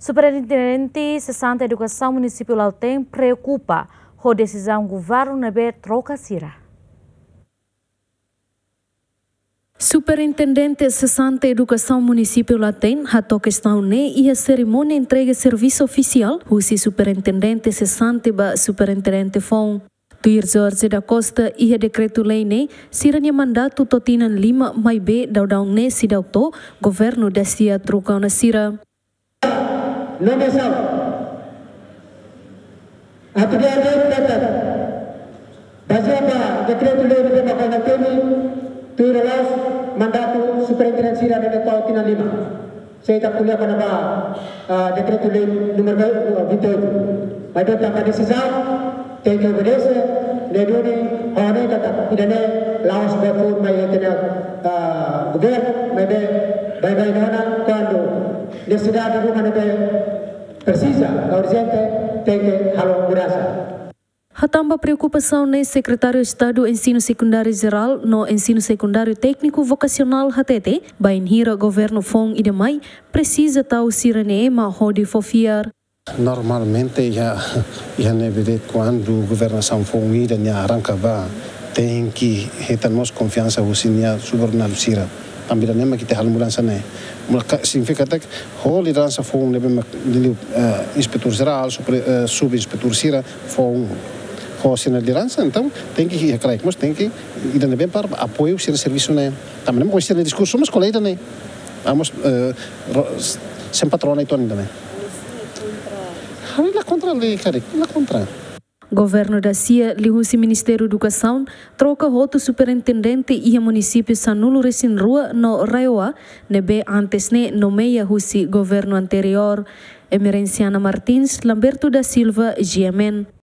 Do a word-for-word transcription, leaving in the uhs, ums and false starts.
Superintendente Sesante Edukasaun Munisípiu Lautein preokupa ho desizaun governu ne'ebé troka sira. Superintendente Sesante Edukasaun Munisípiu Lautein hato'o kestaun ne'e iha serimónia entrega servisu ofisiál husi Superintendente Sesante ba Superintendente Foun. Tuir Jorge da Costa, iha dekretu-lei ne'e, sira-nia mandatu to'o tinan lima, maibé daudaun ne'e seidauk to'o, governu dasia troka ona sira. Nomeasaun. Atu di'ak, di'ak, di'ak. Bazeia ba dekretu-lei ne'ebé mak ona temi, tuir la'ós mandatu superintendente sira ne'ebé to'o tinan lima. Se ita ko'alia kona-ba, ah, dekretu-lei númeru vinte e oito. Maibé tanba desizaun, tenke obedese, ne'e duni, ha'u hanoin katak ida-ne'e la'ós ba fó mai ita-nia, ah, governu, maibé baibain ona, kuandu nesesidade ruma ne'ebé presiza, urjente, tenke halo mudansa. Hatán ba preokupasaun ne'e, Sekretáriu Estadu Ensinu Sekundáriu Jerál no Ensinu Sekundáriu Tékniku Vokasionál hatete, bainhira governu foun ida mai, presiza tau sira-nia ema hodi fó fiar. Normalmente iha, iha ne'ebé de'it kuandu governasaun foun ida nia arranka bá, tenke hetan mós konfiansa husi nia subordinadu sira. Tanba ida-ne'e mak ita halo mudansa ne'e. Mula ka, signifika katak ho lideransa foun ne'ebé mak liuliu, eh, inspetór jerál, supre-, eh, subinspetór sira foun ho sira-nia lideransa, entaun tenke iha kraik mós tenke ida ne'ebé para apoiu sira-nia servisu ne'e. Tanba ne'e mak sira-nia diskursu mós ko'alia ida-ne'e. Amos, eh, ro-, sem patrona itu ida-ne'e. Ha'u la kontra lei karik, la kontra. Governu dasia liuhusi Ministériu Edukasaun troka hotu superintendente iha munisípiu sanulu-resin-rua no RAEOA ne'ebé antes ne'e nomeia husi governu anteriór. Emerenciana Martins, Lamberto da Silva, G M N.